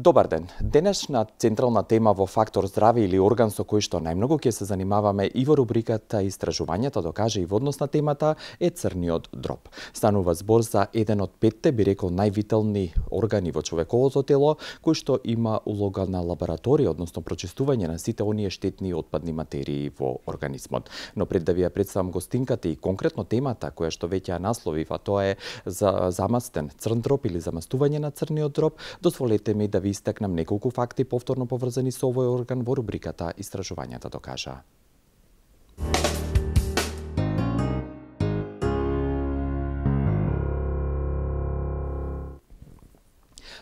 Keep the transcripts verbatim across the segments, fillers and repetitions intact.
Добар ден. Денешна централна тема во Фактор здраве или орган со кој што најмногу ќе се занимаваме и во рубриката Истражувањата докаже и во однос на темата е црниот дроб. Станува збор за еден од петте, би рекол, највитални органи во човековото тело, кој што има улога на лабораторија, односно прочистување на сите оние штетни и отпадни материи во организмот. Но пред да ви ја представам гостинката и конкретно темата која што веќе ја насловив, а тоа е за замастен црн дроб или замастување на црниот дроб, дозволете ми да ви истакнам неколку факти повторно поврзани со овој орган во рубриката Истражувањата докажа.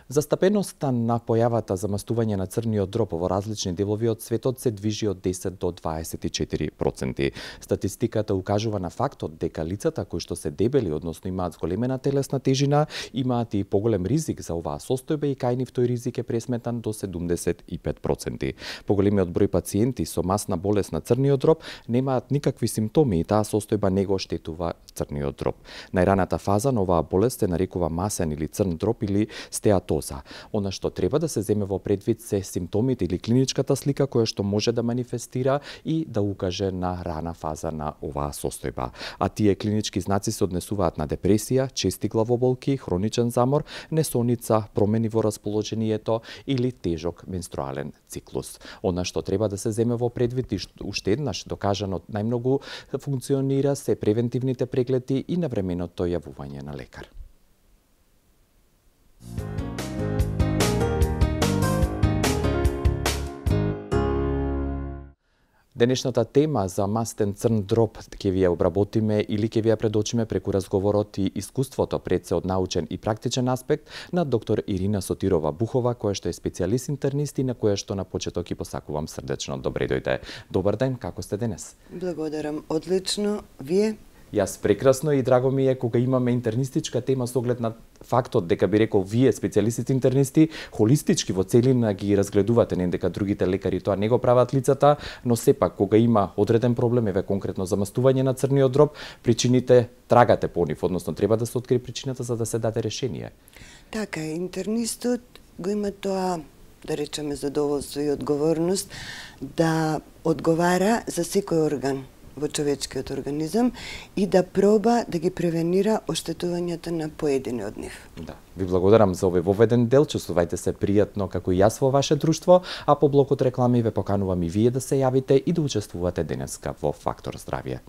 Застапеноста на појавата замастување на црниот дроб во различни делови од светот се движи од десет до дваесет и четири проценти. Статистиката укажува на фактот дека лицата кои што се дебели, односно имаат зголемена телесна тежина, имаат и поголем ризик за оваа состојба и кај нив тој ризик е пресметан до седумдесет и пет проценти. Поголемиот број пациенти со масна болест на црниот дроб немаат никакви симптоми и таа состојба не го оштетува црниот дроб. Најраната фаза на оваа болест се нарекува масен или црн дроб или стеатоза. Она што треба да се земе во предвид се симптомите или клиничката слика која што може да манифестира и да укаже на рана фаза на оваа состојба. А тие клинички знаци се однесуваат на депресија, чести главоболки, хроничен замор, несоница, промени во расположението или тежок менструален циклус. Она што треба да се земе во предвид и уште еднаш докажано најмногу функционира се превентивните прегледи и навременото јавување на лекар. Денешната тема за мастен црн дроб ќе ви ја обработиме или ќе ви ја предочиме преку разговорот и искуството пред се од научен и практичен аспект на доктор Ирина Сотирова Бухова, која што е специјалист интернист и на која што на почеток ќе посакувам срдечно добре дојде. Добар ден, како сте денес? Благодарам, одлично. Вие? Јас прекрасно и драго ми е кога имаме интернистичка тема со оглед на фактот дека би рекол вие специјалисти интернисти холистички во целина ги разгледувате, не дека другите лекари тоа не го прават лицата, но сепак кога има одреден проблем, еве конкретно замастување на црниот дроб, причините трагате по нив, односно треба да се открие причината за да се даде решение. Така е, интернистот го има тоа, да речеме, задоволство и одговорност да одговара за секој орган во човечкиот организам и да проба да ги превенира оштетувањето на поедини од нив. Да. Ви благодарам за овој воведен дел, чувствувајте се пријатно како и јас во ваше друштво, а по блокот реклами ве поканувам и вие да се јавите и да учествувате денеска во Фактор здравје.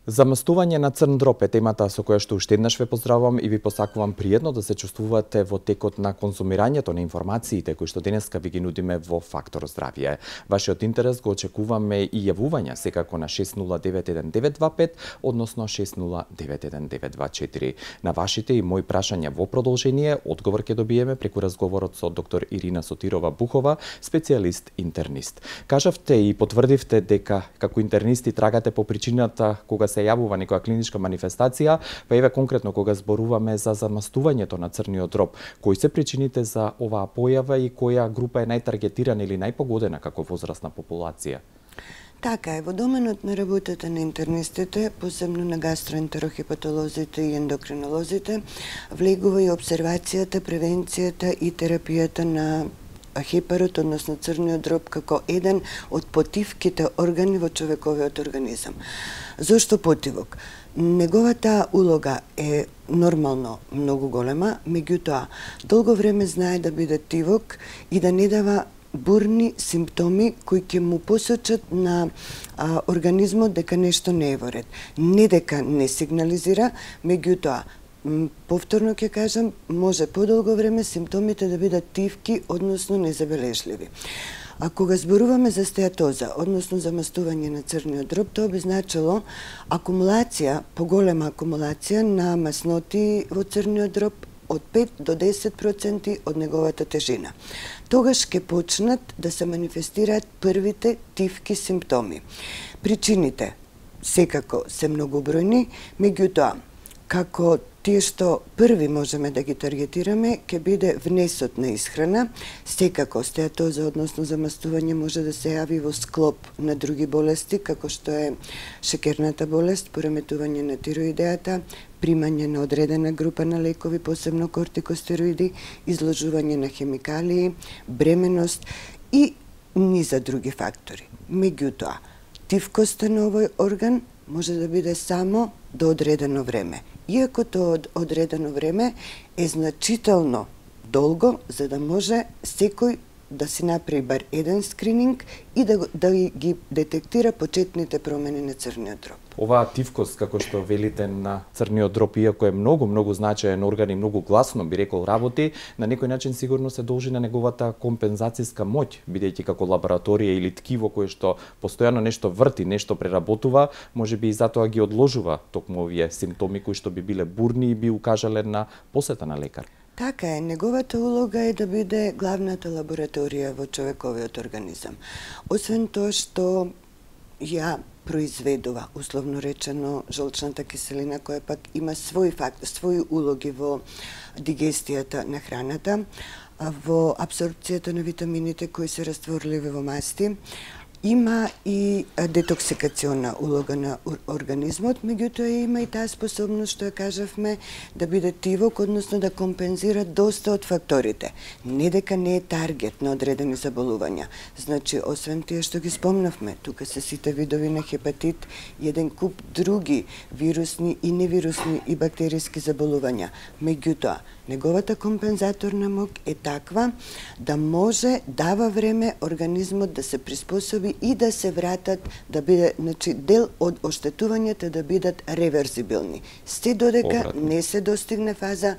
Замастување на црн дроб е темата со која што уште еднаш ве поздравувам и ви посакувам пријатно да се чувствувате во текот на конзумирањето на информациите кои што денеска ви ги нудиме во Фактор здравје. Вашиот интерес го очекуваме и јавувања секако на шест нула девет еден девет два пет, односно шест нула девет еден девет два четири. На вашите и мои прашања во продолжение, одговор ќе добиеме преку разговорот со доктор Ирина Сотирова Бухова, специјалист интернист. Кажавте и потврдивте дека како интернисти трагате по причината кога се јавува некоја клиничка манифестација, па еве конкретно кога зборуваме за замастувањето на црниот дроб, кои се причините за оваа појава и која група е најтаргетирана или најпогодена како возрастна популација? Така е, во доменот на работата на интернистите, посебно на гастроентерохепатолозите и ендокринолозите, влегува и обсервацијата, превенцијата и терапијата на хепарот, односно црниот дроб, како еден од потивките органи во човековиот организам. Зошто потивок? Неговата улога е нормално многу голема, меѓутоа долго време знае да биде тивок и да не дава бурни симптоми кои ќе му посочат на а, организмот дека нешто не е во ред. Не дека не сигнализира, меѓутоа повторно ќе кажам, може подолго време симптомите да бидат тивки, односно незабележливи. А кога зборуваме за стеатоза, односно замастување на црниот дроб, тоа би значило акумулација, поголема акумулација на масноти во црниот дроб од пет до десет проценти од неговата тежина. Тогаш ќе почнат да се манифестираат првите тивки симптоми. Причините секако се многобројни, меѓутоа, како тие што први можеме да ги таргетираме ќе биде внесот на исхрана. Секако стеатоза, односно замастување, може да се јави во склоп на други болести, како што е шекерната болест, пореметување на тироидеата, примање на одредена група на лекови, посебно кортикостероиди, изложување на хемикалии, бременост и низа други фактори. Меѓутоа, тивкоста на овој орган може да биде само до одредено време. Иако тоа одредено време е значително долго, за да може секој да си направи бар еден скрининг и да, да ги детектира почетните промени на црниот дроб. Оваа тивкост, како што велите, на црниот дроб, иако е многу, многу значаен орган и многу гласно, би рекол, работи, на некој начин сигурно се должи на неговата компензацијска моќ, бидејќи како лабораторија или ткиво кое што постојано нешто врти, нешто преработува, може би и затоа ги одложува токму овие симптоми кои што би биле бурни и би укажале на посета на лекар. Така е, неговата улога е да биде главната лабораторија во човековиот организам. Освен тоа што ја произведува, условно речено, жолчната киселина, која пак има своји факт, своји улоги во дигестијата на храната, во апсорбцијата на витамините кои се растворливи во масти, има и детоксикациона улога на организмот, меѓутоа има и таа способност, што ја кажавме, да биде тивок, односно да компензира доста од факторите. Не дека не е таргет на одредени заболувања. Значи, освен тие што ги спомнавме, тука се сите видови на хепатит и еден куп други вирусни и невирусни и бактериски заболувања. Меѓутоа, неговата компензаторна моќ е таква да може, дава време организмот да се приспособи и да се вратат, да биде, значи, дел од оштетувањата да бидат реверзибилни. Се додека Обратно. не се достигне фаза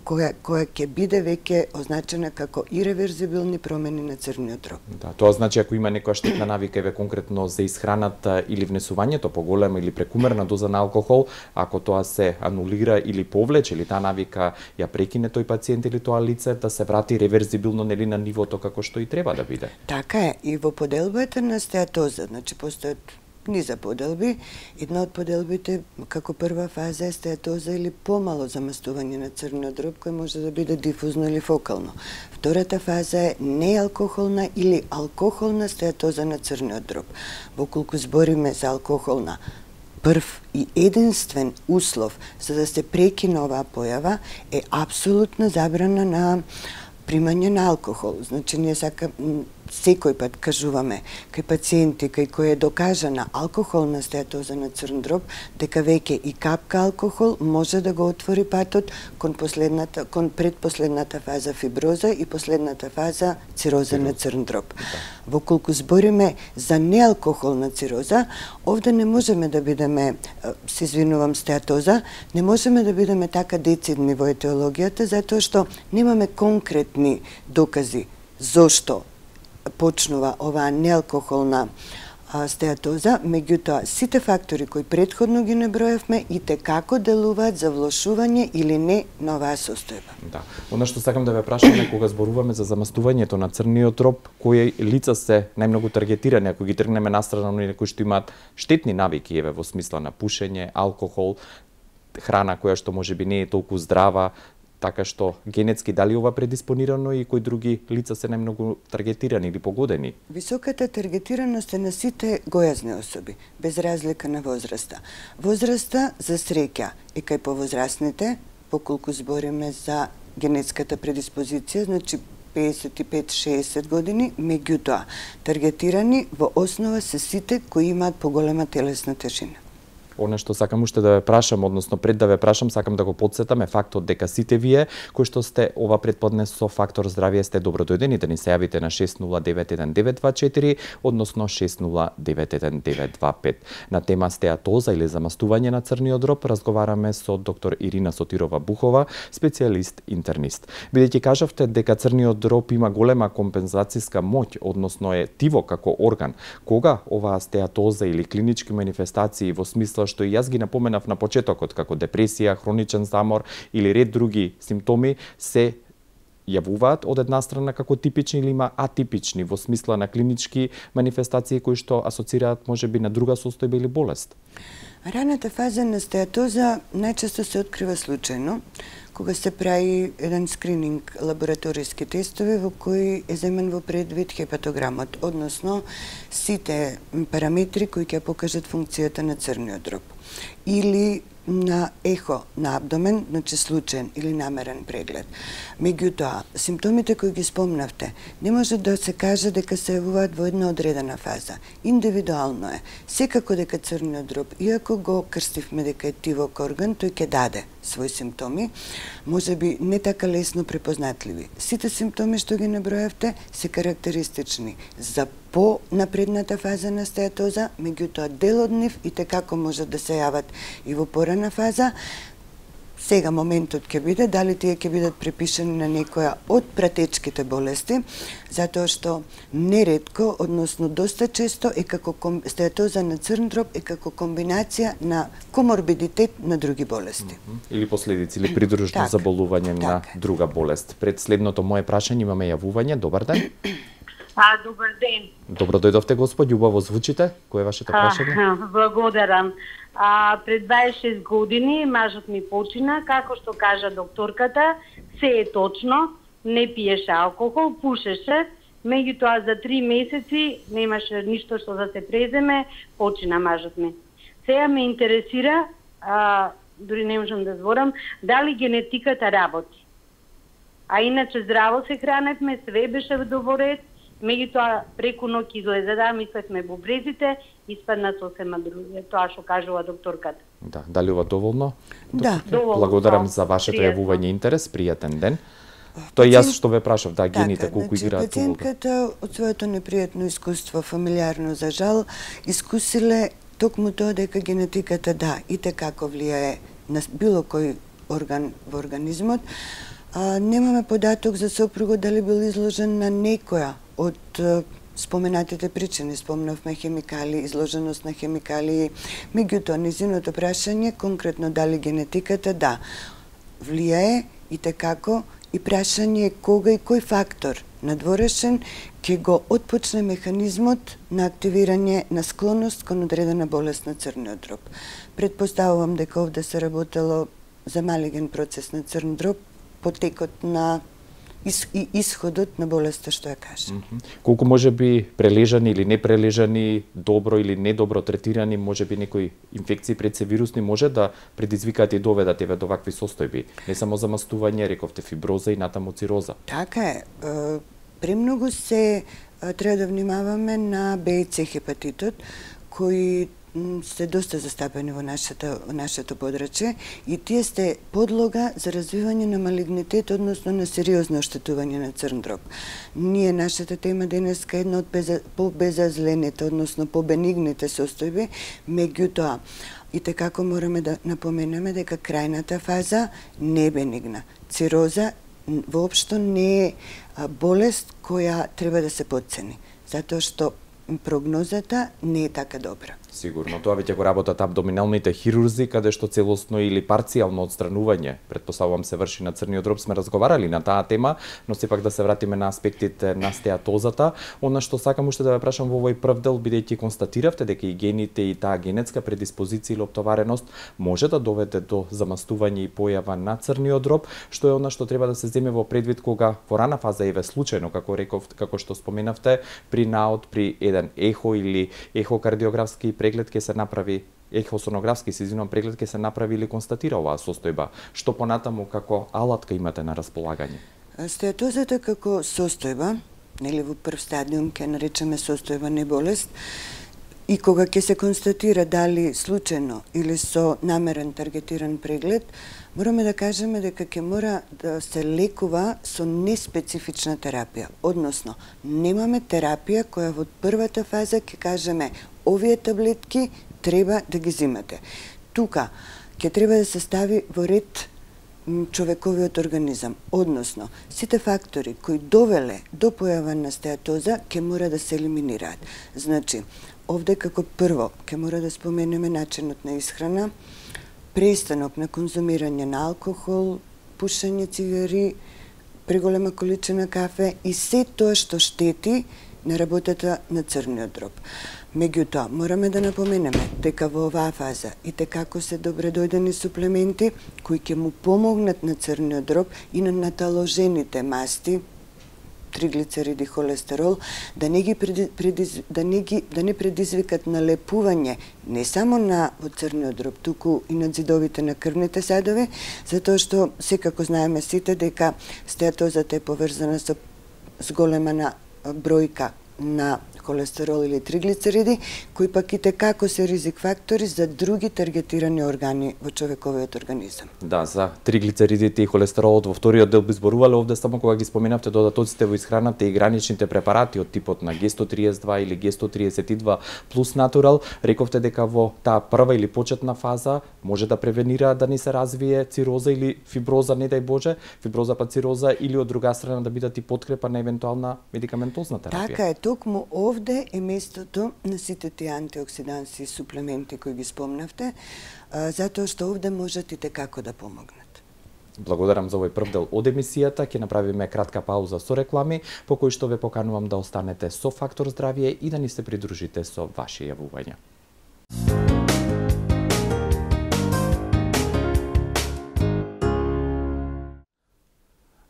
која, која ќе биде веќе означена како иреверзибилни промени на црниот дроб. Да, тоа значи ако има некоја штетна навика еве конкретно за исхраната или внесувањето поголема или прекумерна доза на алкохол, ако тоа се анулира или повлече или таа навика ја прекине тој пациент или тоа лице, да се врати реверзибилно нели на нивото како што и треба да биде. Така е, и во поделбата на стеатоза, значи постојат низа поделби. Една од поделбите како прва фаза е стеатоза или помало замастување на црниот дроб, кој може да биде дифузно или фокално. Втората фаза е неалкохолна или алкохолна стеатоза на црниот дроб. Воколку збориме за алкохолна, прв и единствен услов за да се прекине оваа појава е апсолутна забрана на примање на алкохол. Значи, ние сака секој пат кажуваме кај пациенти кај кои е докажана алкохолна стеатоза на црн дроб, дека веќе и капка алкохол може да го отвори патот кон последната, кон предпоследната фаза фиброза и последната фаза цироза на црн дроб. Воколку збориме за неалкохолна цироза, овде не можеме да бидеме, се извинувам, стеатоза, не можеме да бидеме така децидни во етиологијата, затоа што немаме конкретни докази зошто почнува оваа неалкохолна стеатоза, меѓутоа сите фактори кои претходно ги набројавме и те како делуваат за влошување или не на оваа состојба. Да. Она што сакам да ве прашам е кога зборуваме за замастувањето на црниот дроб, кои лица се најмногу таргетирани, ако ги тргнеме настрана на некои што имаат штетни навики, еве во смисла на пушење, алкохол, храна која што можеби не е толку здрава, така што генетски дали ова предиспонирано и кои други лица се најмногу таргетирани или погодени? Високата таргетираност е на сите гојазни особи, без разлика на возраста. Возраста, за среќа, е кај повозрастните, поколку збориме за генетската предиспозиција, значи песет и пет до шеесет години, меѓутоа таргетирани во основа се сите кои имаат поголема телесна тежина. Оне што сакам уште да ве прашам, односно пред да ве прашам, сакам да го потсетам е фактот дека сите вие кои што сте ова предподне со Фактор Здравје сте добродојдени да ни се јавите на шест нула девет еден девет два четири, односно шест нула девет еден девет два пет. На тема стеатоза или замастување на црниот дроб разговараме со доктор Ирина Сотирова Бухова, специјалист интернист. Бидејќи кажавте дека црниот дроб има голема компензацијска моќ, односно е тиво како орган, кога оваа стеатоза или клинички манифестации во смисла што и јас ги напоменав на почетокот, како депресија, хроничен замор или ред други симптоми, се јавуваат од една страна како типични или има атипични во смисла на клинички манифестации кои што асоцираат можеби на друга состојба или болест? Раната фаза на стеатоза најчесто се открива случајно, кога се прави еден скрининг лабораториски тестови во кои е земен во предвид хепатограмот, односно сите параметри кои ќе покажат функцијата на црниот дроб. Или на ехо на абдомен, значи случаен или намерен преглед. Меѓутоа, симптомите кои ги спомнавте, не може да се каже дека се јавуваат во една одредена фаза. Индивидуално е. Секако дека црниот дроб, иако го крстивме дека е тивок орган, тој ќе даде своји симптоми, може би не така лесно препознатливи. Сите симптоми што ги набројавте се карактеристични за по-напредната фаза на стеатоза, меѓутоа дел од нив и текако може да се јават и во порана фаза. Сега моментот ќе биде дали тие ќе бидат препишани на некоја од пратечките болести, затоа што неретко, односно доста често е како стеатоза на црн дроб е како комбинација на коморбидитет на други болести. Или последици, или придружно так, заболување так. на друга болест. Пред следното моје прашање имаме јавување. Добар ден. А, добар ден. Добро дојдовте, господ, љубаво звучите. Кој е вашето прашање? А, благодарам. А, пред дваесет и шест години мажот ми почина, како што кажа докторката, се е точно, не пиеше алкохол, пушеше, меѓутоа за три месеци немаше ништо што да се преземе, почина мажот ми. Сега ме интересира, а, дури не можам да зборам, дали генетиката работи. А иначе здраво се храневме, све беше во ред, меѓутоа преку ноќ излезе, да, мислевме бубрезите, испадна сосема друго, тоа што кажува докторката. Да, дали ова доволно? Да. Доволно, благодарам да, за вашето пријатно. јавување и интерес, пријатен ден. Тоа јас што ве прашав, да, гените така, колку значи, играат улога. пациентката од своето непријатно искуство, фамилиарно за жал, искусиле токму тоа дека генетиката да и текако влијае на било кој орган во организмот. А, немаме податок за сопругот дали бил изложен на некоја од споменатите причини. Спомнавме хемикали, изложеност на хемикали. Меѓутоа, низиното прашање, конкретно дали генетиката, да, влијае и текако, и прашање е кога и кој фактор надворешен ќе го отпочне механизмот на активирање на склоност кон одредена болест на црниот дроб. Предпоставувам дека овде се работело за малиген процес на црн дроб, потекот на и исходот на болеста што ја кажа. Mm -hmm. Колку може би прележани или непрележани, добро или недобро третирани, може би некои инфекции пред се вирусни може да предизвикаат и доведат еве до вакви состојби. Не само замастување, рековте фиброза и натаму цироза. Така е. Премногу се треба да внимаваме на Б и С хепатитот, кои се доста застапени во нашето, во нашето подрачје и тие сте подлога за развивање на малигнитет, односно на сериозно оштетување на црн дроб. Ние, нашата тема денеска е една од по-безазлените, односно по-бенигните состојби, меѓутоа, и текако мораме да напоменеме дека крајната фаза не е бенигна. Цироза воопшто не е болест која треба да се потцени, затоа што прогнозата не е така добра. Сигурно, тоа веќе го работат абдоминалните хирурзи, каде што целосно или парцијално отстранување, предпоставувам, се врши на црниот дроб. Сме разговарали на таа тема, но сепак да се вратиме на аспектите на стеатозата. Она што сакам уште да ве прашам во овој прв дел, бидејќи констатиравте дека и гените и таа генетска предиспозиција или оптовареност може да доведе до замастување и појава на црниот дроб, што е она што треба да се земе во предвид кога во рана фаза еве случајно, како реков, како што споменавте, при наод, при еден ехо или ехокардиографски преглед ќе се направи, ехосонографски се извинувам, преглед ќе се направи или констатира оваа состојба. Што понатаму како алатка имате на располагање? Стеатозата како состојба, нели во прв стадиум ќе наречеме состојба не болест, и кога ќе се констатира дали случајно или со намерен таргетиран преглед, мораме да кажеме дека ќе мора да се лекува со неспецифична терапија. Односно, немаме терапија која во првата фаза ќе кажеме овие таблетки треба да ги зимате. Тука ќе треба да се стави во ред човековиот организам. Односно, сите фактори кои довеле до појава на стеатоза ќе мора да се елиминираат. Значи, овде како прво ќе мора да споменеме начинот на исхрана, престанок на конзумирање на алкохол, пушење цигари, преголема количина кафе и се тоа што штети на работата на црниот дроб. Меѓутоа, мораме да напоменеме дека во оваа фаза и текако се добредојдени суплементи кои ќе му помогнат на црниот дроб и на наталожените масти, триглицериди, холестерол, да не ги предиз, да не ги да не предизвикат налепување не само на црниот дроб, туку и на ѕидовите на крвните садови, затоа што секако знаеме сите дека стеатозата е поврзана со зголема на бројка на холестерол или триглицериди, кои пак и текако се ризик фактори за други таргетирани органи во човековиот организам. Да, за триглицеридите и холестеролот во вториот дел би зборувале овде само кога ги споменавте додатоците во исхраната и граничните препарати од типот на Г сто триесет и два или Г сто триесет и два плюс натурал, рековте дека во таа прва или почетна фаза може да превенира да ни се развие цироза или фиброза, не дај Боже, фиброза па цироза, или од друга страна да бидат и подкрепа на евентуална медикаментозна терапија. Така е, токму овде е местото на сите тие антиоксиданси и суплементи кои ги спомнавте, затоа што овде можат и текако да помогнат. Благодарам за овој прв дел од емисијата. Ќе направиме кратка пауза со реклами, по кој што ве поканувам да останете со Фактор здравје и да ни се придружите со ваши јавувања.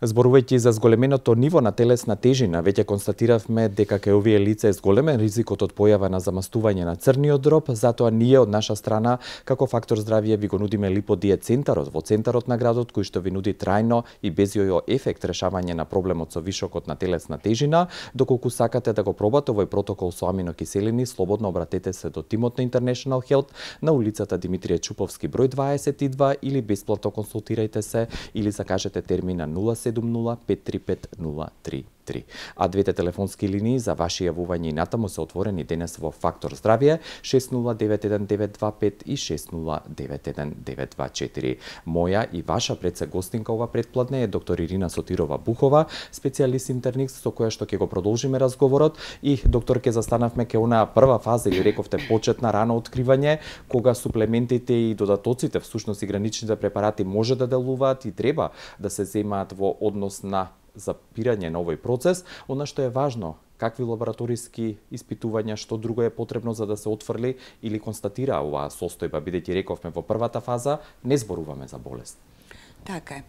Зборувајќи за зголеменото ниво на телесна тежина, веќе констатиравме дека кај овие лица е зголемен ризикот од појава на замастување на црниот дроб, затоа ние од наша страна, како Фактор здравје, ви го нудиме липодиет центарот во центарот на градот, кој што ви нуди трајно и без јојо ефект решавање на проблемот со вишокот на телесна тежина. Доколку сакате да го пробате овој протокол со аминокиселини, слободно обратете се до тимот на International Health на улицата Димитрije Чуповски број дваесет и два или бесплатно консултирајте се или закажете термин на нула седум нула пет три пет нула три три. А двете телефонски линии за ваши јавувања и натаму се отворени денес во Фактор здравје шест нула девет еден девет два пет и шест нула девет еден девет два четири. Моја и ваша предсе гостинка ова предпладне е доктор Ирина Сотирова Бухова, специјалист интернист со која што ќе го продолжиме разговорот. И доктор, ќе застанавме ке онаа прва фаза, или рековте почетна рано откривање, кога суплементите и додатоците, всушност и граничните препарати, може да делуваат и треба да се земаат во однос на запирање на овој процес. Она што е важно, какви лабораториски испитувања, што друго е потребно за да се отфрли или констатира оваа состојба, бидејќи рековме во првата фаза не зборуваме за болест. Така е.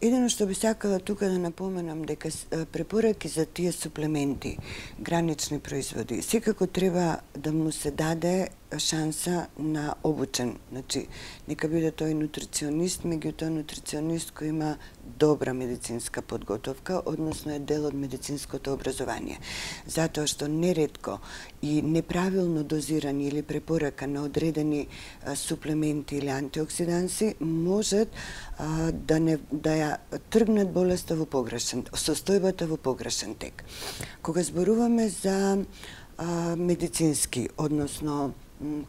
Едино што би сакала тука да напоменам дека препораки за тие суплементи, гранични производи, секако треба да му се даде шанса на обучен. Значи, нека биде тој нутриционист, меѓутоа нутриционист кој има добра медицинска подготовка, односно е дел од медицинското образование. Затоа што неретко и неправилно дозирани или препорака на одредени а, суплементи или антиоксиданси можат а, да не да ја тргнат болеста во погрешен, состојбата во погрешен тек. Кога зборуваме за а, медицински, односно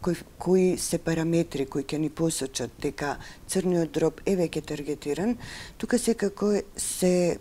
кои, кои се параметри кои ќе ни посочат дека црниот дроб е веќе таргетиран, тука секако се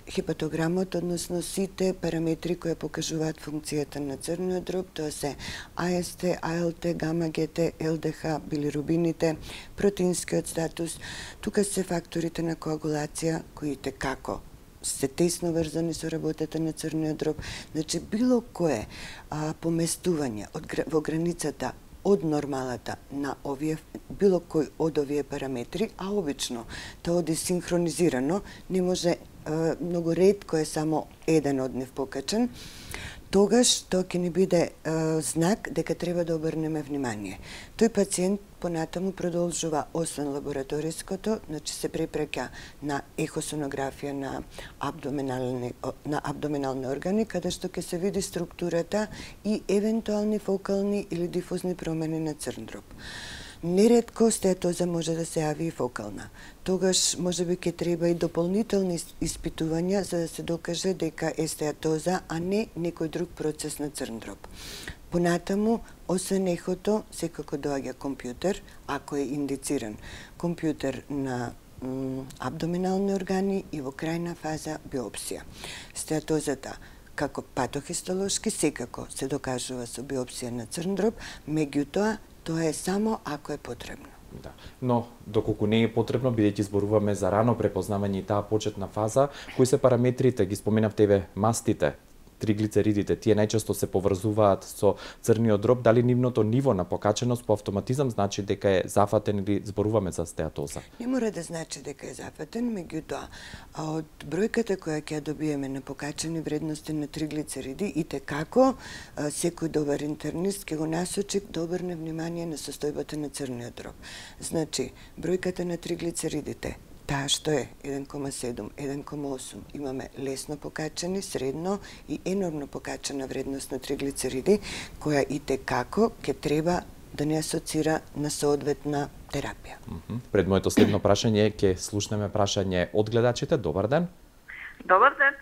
хепатограмот, односно сите параметри кои покажуваат функцијата на црниот дроб, тоа се А С Т, А Л Т, гама Г Т, Л Д Х, билирубините, протеинскиот статус, тука се факторите на коагулација кои текако се тесно врзани со работата на црниот дроб. Значи, било кое а, поместување од, во границата од нормалата на овие, било кој од овие параметри, а обично тоа оди синхронизирано, не може, а, многу ретко е само еден од нив покачен, тогаш тоа ќе ни биде а, знак дека треба да обрнеме внимание. Тој пациент понатаму продолжува освен лабораториското, значи се препраќа на ехосонографија на абдоминални на абдоминални органи, каде што ќе се види структурата и евентуални фокални или дифузни промени на црн дроб. Неретко стеатоза може да се јави и фокална. Тогаш можеби ќе треба и дополнителни испитувања за да се докаже дека е стеатоза, а не некој друг процес на црн дроб. Понатаму, освен ехото, секако доаѓа компјутер, ако е индициран. Компјутер на абдоминални органи и во крајна фаза биопсија. Стеатозата како патохистолошки секако се докажува со биопсија на црн дроб, меѓутоа тоа е само ако е потребно. Да. Но доколку не е потребно, бидејќи зборуваме за рано препознавање и таа почетна фаза, кои се параметрите, ги споменавте еве мастите, триглицеридите, тие најчесто се поврзуваат со црниот дроб, дали нивното ниво на покаченост по автоматизам значи дека е зафатен или зборуваме за стеатоза? Не мора да значи дека е зафатен, меѓутоа, а од бројката која ќе ја добиеме на покачени вредности на триглицериди, и те како секој добар интернист ќе го насочи да обрне внимание на состојбата на црниот дроб. Значи, бројката на триглицеридите, таа што е еден кома седум, еден кома осум, имаме лесно покачени, средно и енормно покачена вредност на триглицериди, која и те како ќе треба да не асоцира на соодветна терапија. Mm -hmm. Пред моето следно прашање ќе слушнеме прашање од гледачите. Добар ден. Добар ден.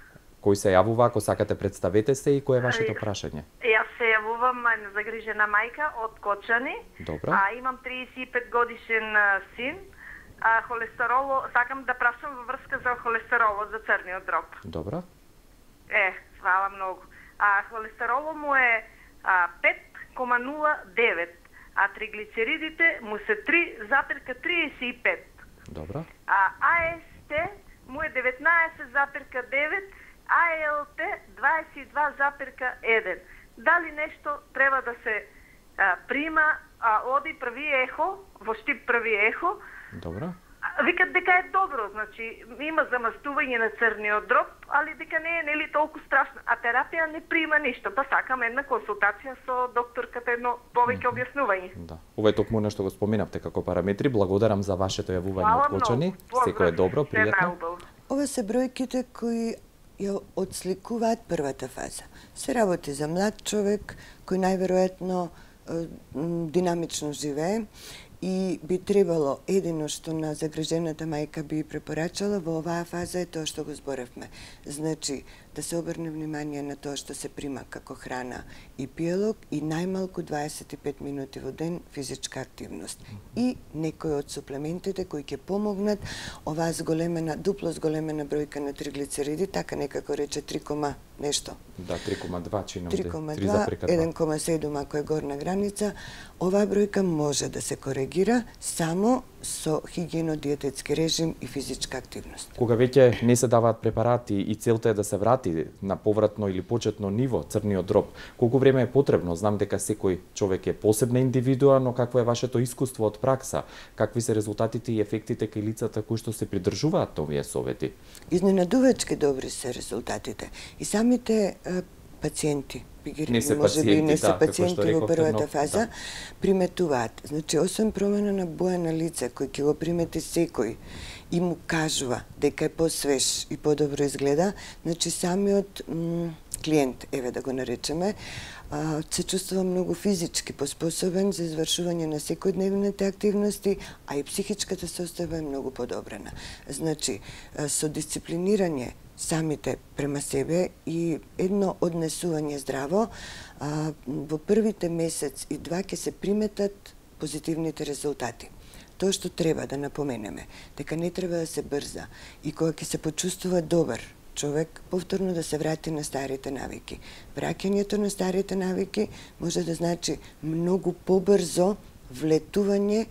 Кој се јавува, ако сакате представете се и кој е вашето прашање? Јас се јавувам загрижена мајка од Кочани. Добро. А имам триесет и пет годишен син. А холестероло, сакам да прашам во врска за холестеролот за црниот дроб. Добро. Е, фала многу. А холестероло му е а, пет кома нула девет, а триглицеридите му се три запирка триесет и пет. Добро. А АСТ му е деветнаесет запирка девет, АЛТ дваесет и два запирка еден. Дали нешто треба да се а, прима, а оди прави ехо, во Штип прави ехо. Добро. Викат дека е добро, значи има замастување на црниот дроб, али дека не е нели толку страшно, а терапија не прима ништо, па сакам една консултација со докторката, едно повеќе објаснување. Да. Ова е токму нешто го споменавте како параметри. Благодарам за вашето јавување од Кочани. Секој е добро, пријатно. Ова се бројките кои ја отсликуваат првата фаза. Се работи за млад човек кој најверојатно динамично живее и би требало едино што на загрижената мајка би препорачала во оваа фаза е тоа што го зборевме. Значи, да се обрне внимание на тоа што се прима како храна и пиелок и најмалку дваесет и пет минути во ден физичка активност. И некои од суплементите кои ќе помогнат оваа зголемена, дупло зголемена бројка на триглицериди, така некако рече три, нешто. Да, три кома два чинам. три кома два, еден кома седум ако е горна граница. Оваа бројка може да се коригира само со хигиено-диететски режим и физичка активност. Кога веќе не се даваат препарати и целта е да се врати на повратно или почетно ниво црниот дроб, колку време е потребно? Знам дека секој човек е посебна индивидуа, но какво е вашето искуство од пракса? Какви се резултатите и ефектите кај лицата кои што се придржуваат на овие совети? Изненадувачки добри се резултатите. И самите е, пациенти, не се може би не се да, пациенти во првата но, фаза, да. приметуваат. Значи, освен промена на боја на лице, кој ќе го примети секој и му кажува дека е посвеж и подобро изгледа, значи самиот клиент, еве да го наречеме, а, се чувствува многу физички поспособен за извршување на секојдневните активности, а и психичката состојба е многу подобрена. Значи, со дисциплинирање самите према себе и едно однесување здраво, а, во првите месец и два ќе се приметат позитивните резултати. Тоа што треба да напоменеме, дека не треба да се брза и кога ќе се почувствува добар човек, повторно да се врати на старите навики. Враќањето на старите навики може да значи многу побрзо влетување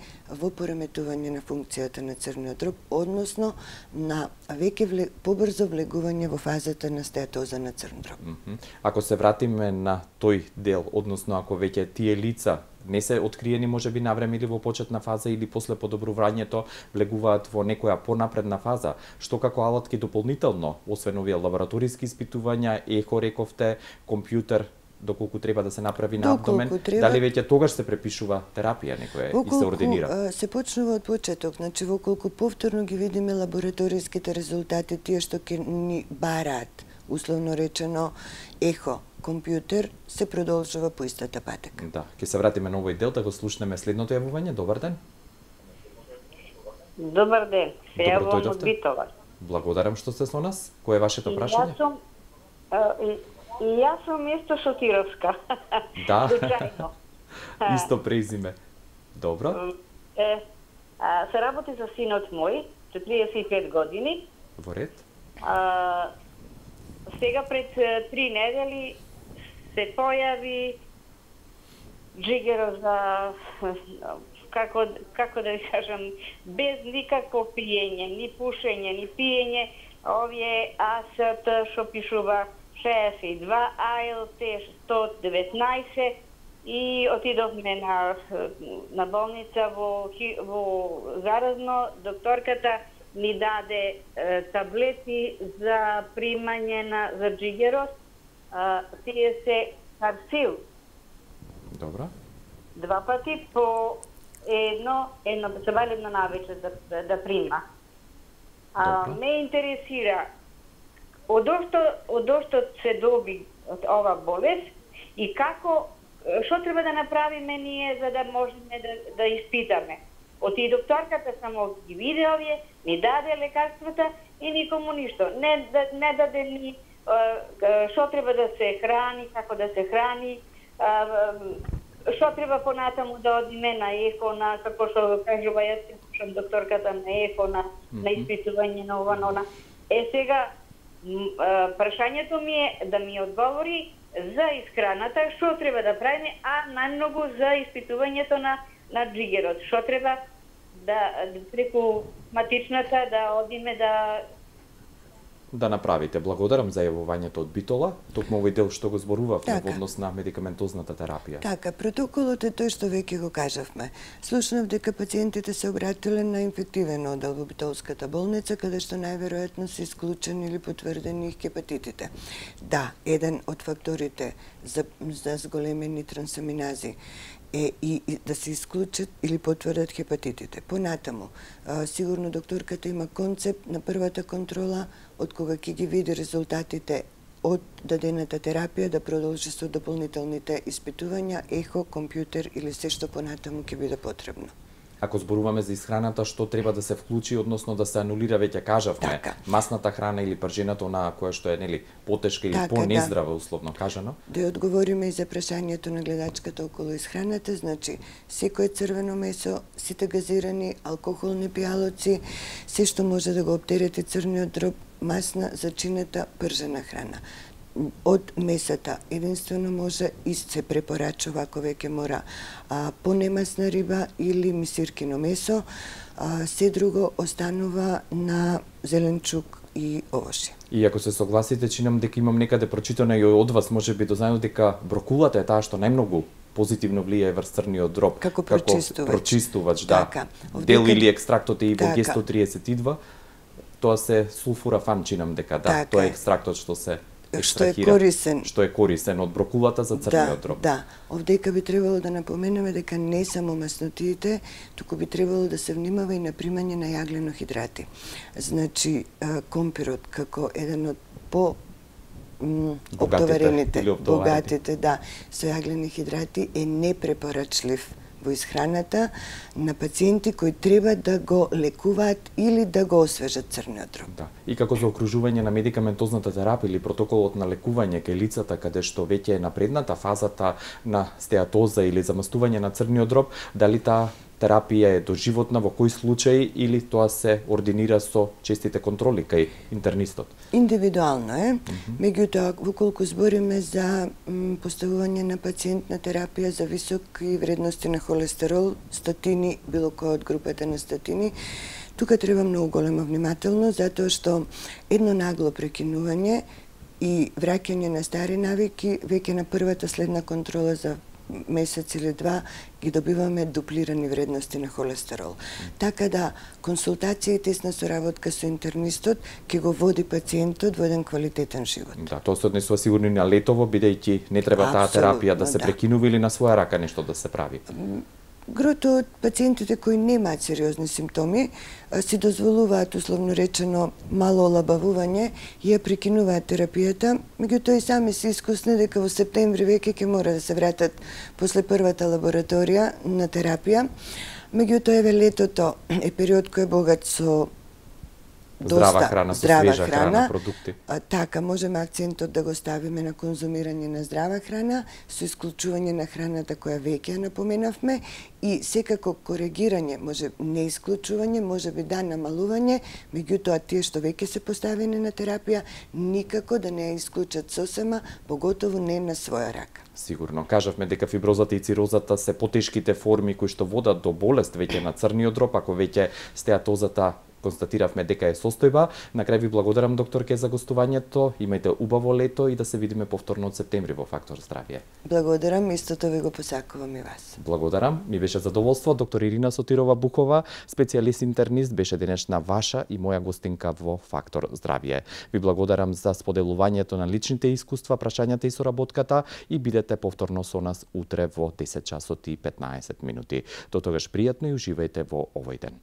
во пореметување на функцијата на црниот дроб, односно на веќе вле, побрзо влегување во фазата на стеатоза на црн дроб. Mm -hmm. Ако се вратиме на тој дел, односно ако веќе тие лица не се откриени можеби навреме или во почетна фаза или после подобрувањето влегуваат во некоја понапредна фаза, што како алатки дополнително, освен овие лабораториски испитувања, ехо рековте, компјутер, доколку треба да се направи на абдомен, треба, дали веќе тогаш се препишува терапија некоја и се ординира? Воколку се почнува од почеток, значи воколку повторно ги видиме лабораториските резултати, тие што ќе ни бараат, условно речено, ехо, компјутер, се продолжува по истата патека. Да, ќе се вратиме на овој дел да го слушнеме следното јавување. Добар ден. Добар ден. Се јавувам од Битола. Благодарам што сте со нас. Кој е вашето прашање? Јас сум и, и јас сум Место Шотировска. Да. Случајно. Исто презиме. Добро. Е, а, се работи за синот мој, четириесет и пет години. Во ред. А, сега пред три недели се појави джигер за како како да ви кажам, без никакво пиење, ни пушење, ни пиење, овие А С Т што пишува шеесет и два, А Л Т сто деветнаесет и отидовме на на болница во во заразно, докторката ни даде е, таблети за примање на за джигерос, тие се Карсил. Добро. Два пати по едно, едно се валидно навече да, да, да прима. А, ме интересира одошто одошто се доби од ова болест и како, што треба да направиме ние за да можеме да, да испитаме. Оти докторката само ги виде овие, ни даде лекарствата и никому ништо. Не, да, не даде ни што треба да се храни, како да се храни, што треба понатаму да одиме на ехо, на како што кажува, јас се слушам докторката на ехо, на, mm-hmm. на испитување на ова, на она. Е сега, прашањето ми е да ми одговори за исхраната, што треба да правиме, а најмногу за испитувањето на на джигерот. Што треба да преку матичната да одиме да да направите. Благодарам за јавувањето од Битола. Токму овој дел што го зборувавме така. Во однос на медикаментозната терапија. Така, протоколот е тој што веќе го кажавме. Слушнав дека пациентите се обратиле на инфективен одел во Битолската болница, каде што најверојатно се исклучени или потврдени хепатитите. Да, еден од факторите за, за зголемени трансаминази е и, и да се исклучат или потврдат хепатитите. Понатаму, а, сигурно докторката има концепт на првата контрола, од кога ќе ги види резултатите од дадената терапија, да продолжи со дополнителните испитувања, ехо, компјутер или се што понатаму ќе биде потребно. Ако зборуваме за исхраната, што треба да се вклучи, односно да се анулира, веќе кажавме, така. Масната храна или пржената, онаа која што е нели потешка или така, понездрава, да. Условно кажано? Да одговориме и за прашањето на гледачката околу исхраната, значи секое црвено месо, сите газирани, алкохолни пијалоци, се што може да го оптерети црниот дроб, масна, зачинета, пржена храна. Од месата единствено може и се препорачува ако веќе мора а, понемасна риба или мисиркино месо, а, се друго останува на зеленчук и овошје. И ако се согласите, чинам дека имам некаде прочитано и од вас, можеби дознаено дека брокулата е таа што најмногу позитивно влијае врз црниот дроб. Како прочистувач. Како прочистувач, да. Така. Дел или екстрактот е и во така. Г сто триесет и два, тоа се сулфурафан, чинам дека, да, така. Тоа е екстрактот што се што е корисен. Што е корисен од брокулата за црниот дроб. Да, да. Овдека би требало да напоменеме дека не само маснотиите, туку би требало да се внимава и на примање на јаглено-хидрати. Значи, компирот како еден од по оптоварените, богатите, да, со јаглени хидрати е непрепорачлив во исхраната на пациенти кои треба да го лекуваат или да го освежат црниот дроб. Да. И како за окружување на медикаментозната терапија или протоколот на лекување кај лицата каде што веќе е напредната фазата на стеатоза или замастување на црниот дроб, дали таа терапија е доживотна, во кој случај или тоа се ординира со честите контроли кај интернистот? Индивидуално е. Mm -hmm. Меѓутоа, воколку збориме за м, поставување на пациент на терапија за високи вредности на холестерол, статини, било кој од групата на статини, тука треба многу голема внимателност, затоа што едно нагло прекинување и враќање на стари навики веќе на првата следна контрола за месец или два ги добиваме дуплирани вредности на холестерол. Така да консултација и тесна соработка со интернистот ќе го води пациентот во еден квалитетен живот. Да, тоа се однесува сигурно и на летово, бидејќи не треба таа терапија да се да. прекинува или на своја рака нешто да се прави. Грото од пациентите кои немаат сериозни симптоми си дозволуваат, условно речено, мало олабавување и ја прекинуваат терапијата, меѓутоа и сами се искусни дека во септември веќе ќе мора да се вратат после првата лабораторија на терапија. Меѓутоа, еве летото е период кој е богат со Здрава храна, со здрава свежа храна, храна, продукти. А, така, можеме акцентот да го ставиме на конзумирање на здрава храна, со исклучување на храната која веќе напоменавме, и секако коригирање, може не исклучување, може би да намалување, меѓутоа тие што веќе се поставени на терапија, никако да не ја исклучат сосема, поготово не на своја рака. Сигурно. Кажавме дека фиброзата и цирозата се потешките форми кои што водат до болест веќе на црниот дроб, ако веќе стеатозата констатиравме дека е состојба. На крај ви благодарам, докторке, за гостувањето. Имајте убаво лето и да се видиме повторно од септември во Фактор здравје. Благодарам, истото ви го посакувам и вас. Благодарам. Ми беше задоволство. Доктор Ирина Сотирова Букова, специјалист интернист, беше денешна ваша и моја гостинка во Фактор здравје. Ви благодарам за споделувањето на личните искуства, прашањата и соработката и бидете повторно со нас утре во десет часот и петнаесет минути. До тогаш пријатно и уживајте во овој ден.